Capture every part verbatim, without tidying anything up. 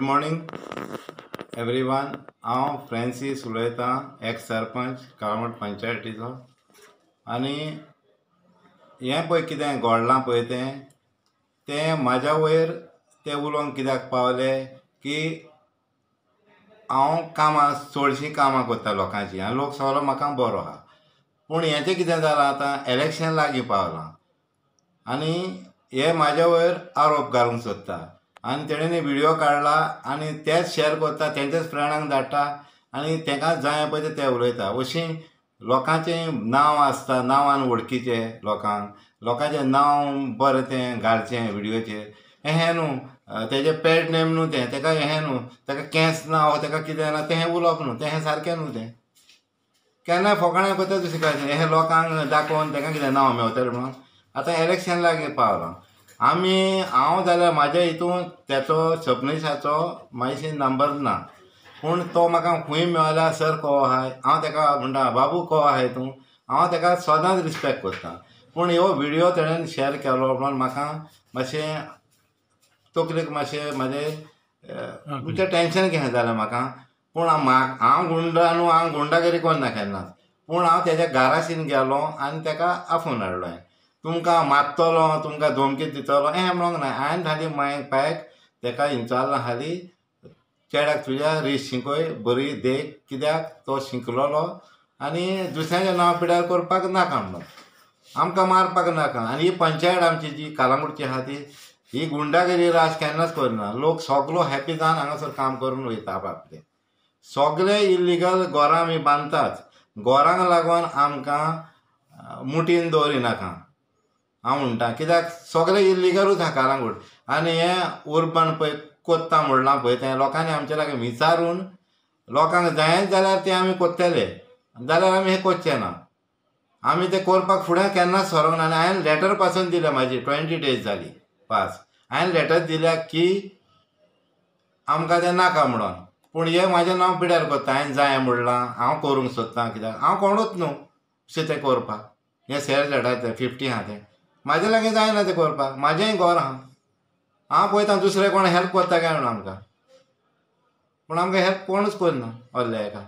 Morning everyone. हांव Francis उलयतां, x sarpanch Calangute पंचायतीचो. आनी हें पळय कितें घडलां पळय तें तें म्हाज्या वयर ते उलोवंक कित्याक पावले की हांव कामां चडशीं कामां करता लोकांचीं आनी लोक सगलो म्हाका बरो आहा. पूण हेचें कितें जालां, आतां इलेक्शन लागीं पावलां आनी हे म्हाज्या वयर आरोप घालूंक सोदता आनी तेणें विडियो काडला आनी तेच शेअर करता, तेंच्याच फ्रेंडांक धाडटा आनी तेंकां जाय पळय ते उलयता. अशीं लोकांचें नांव आसता, नांवान वळखीचें लोकांक, लोकांचें नांव बरें तें घालचें विडियोचेर अहें न्हू, तेजें पॅड नेम न्हू तें, तेका हें न्हू, तेका केंस ना वो तेका कितें ना तें उलोवप न्हू, तें सारकें न्हू. तें केन्नाय फोकाणां करता दुसरें कांय हें लोकांक दाखोवन तेका कितें नांव मेवतलें म्हणून. आतां इलेक्शन लागीं पावलां, आमी हांव जाल्यार म्हाज्या हितून तेचो सपनेशाचो मातशें नंबर ना, पूण तो म्हाका खूंय मेळ्ळ्यार सर को आहाय, हांव तेका म्हणटा बाबू को आहाय तूं, हांव तेका सदांच रिस्पेक्ट करता. पूण ह्यो विडियो तेणेन शेअर केलो म्हणून म्हाका मातशें तकलेक मातशें म्हाजें म्हणजे टेंशन घें जालें म्हाका. पूण हांव गुंडा न्हू, हांव गुंडागिरी करना केन्नाच, पूण हांव तेज्या घराशीन गेलो आनी तेका आफोवन हाडलो. हांवें तुमकां मारतलो, तुमकां धमकी दितलो हें म्हणूंक ना. हांवें हाली माय पायक तेका विचारलां, हाली चेड्याक तुज्या रीस शिंकय बरी देख, कित्याक तो शिंकलेलो आनी दुसऱ्यांचें नांव पिड्यार करपाक नाका म्हणून, आमकां मारपाक नाका. आनी ही पंचायत आमची जी कालांगुटची आहा ती ही गुंडागिरी राज केन्नाच करना. लोक सगलो हॅपी जावन हांगासर काम करून वयता आपआपले. सगले इल्लिगल घरां आमी बांदतात, घरांक लागून आमकां मुठीन दवरिनाका हांव म्हणटा, कित्याक सगले इल्लिगलूच आहा कालांगूट. आनी हें उर्बन पळय कोत्ता म्हणलां पळय तें लोकांनी आमच्या लागीं विचारून लोकांक जायच जाल्यार तें आमी कोत्तले, जाल्यार आमी हें करचें ना. आमी तें करपाक फुडें केन्नाच सरोंक ना. आनी हांवें लेटर पासून दिल्या, म्हाजी ट्वेंटी डेज जाली पास, हांवें लेटर दिल्या की आमकां तें नाका म्हणून. पूण हें म्हाजें नांव पिड्यार करता, हांवें जाय म्हणलां, हांव करूंक सोदतां, कित्याक हांव कोणूच न्हू अशें तें करपाक. हें सेल झाडां तें फिफ्टी आहा तें म्हाजे लागीं जायना तें करपाक, म्हाजेंय घर आहा, हांव पळयता दुसरे कोण हेल्प करता काय म्हणून आमकां, पूण आमकां हेल्प कोणूच करना व्हडल्या एका.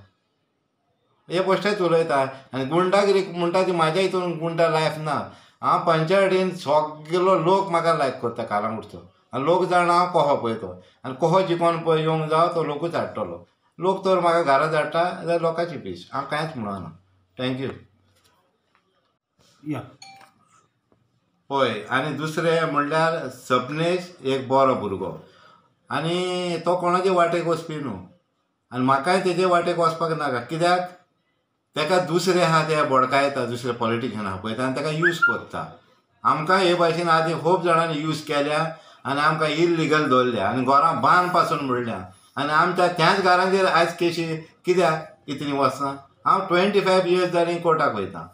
हे बेश्टेच उलयता. आनी गुंडागिरी म्हणटा ती म्हाज्या हितून गुंडा लायफ ना. हांव पंचायतीन सगलो लोक म्हाका लायक करता कालांगुटचो, आनी लोक जाणा हांव कोहो पळय तो, आनी कोहो जिकोन पळय येवंक जावो तो लोकूच हाडटलो. लोक तर म्हाका घरा धाडटा जाल्यार लोकांची पीस, हांव कांयच म्हणना. Thank you. या पळय, आनी दुसरें म्हणल्यार सपनेश एक बरो भुरगो आनी तो कोणाचे वाटेक वचपी न्हू, आनी म्हाकाय तेजे वाटेक वचपाक नाका, कित्याक तेका दुसरे आहा ते बडकायता, दुसरे पॉलिटिशन आहा पळय आनी तेका यूज करता. आमकां हे भाशेन आदी खूब जाणांनी यूज केल्या आनी आमकां इल्लिगल दवरल्या आनी घरां बांद पासून म्हणल्या, आनी आमच्या त्याच घरांचेर आयज केशी कित्याक इतलीं वचना. हांव ट्वेंटी फायव इयर्स जालीं कोर्टाक वयता,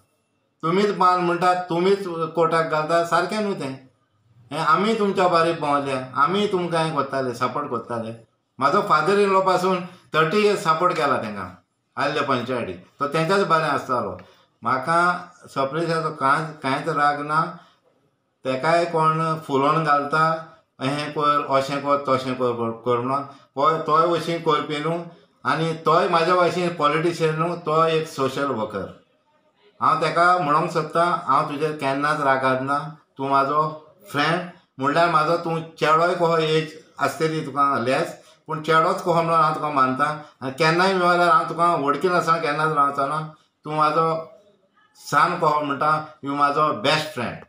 तुमीच बांद म्हणटात, तुमीच कोर्टाक घालता, सारकें न्हू तें. हें आमी तुमच्या बारीक भोंवल्या, आमी तुमकां हें करताले, सपोर्ट करताले. म्हाजो फादर इन लॉ पासून थर्टी इयर्स सपोर्ट केला तेंकां आयल्ले पंचायती, तो तेंच्याच बरें आसतालो. म्हाका सपनेशाचो कांय कांयच राग ना, तेकाय कोण फुलोवन घालता अहें कर अशें कर तशें कर कर म्हणून, पळय तोय अशीं करपी न्हू, आनी तोय म्हाज्या भाशेन पॉलिटिशियन न्हू, तो एक सोशल वर्कर. हांव तेका म्हणूंक सोदता, हांव तुजेर केन्नाच रागार ना, तूं म्हाजो फ्रेंड म्हणल्यार म्हाजो तूं चेडोय कहो एज आसतली तुका लेस, पूण चेडोच कहो म्हणून हांव तुका मानता. आनी केन्नाय मेळल्यार हांव तुका वळखी नासतना केन्नाच रावचो ना, तूं म्हाजो सान कहो म्हणटा, you म्हाजो बेस्ट फ्रेंड.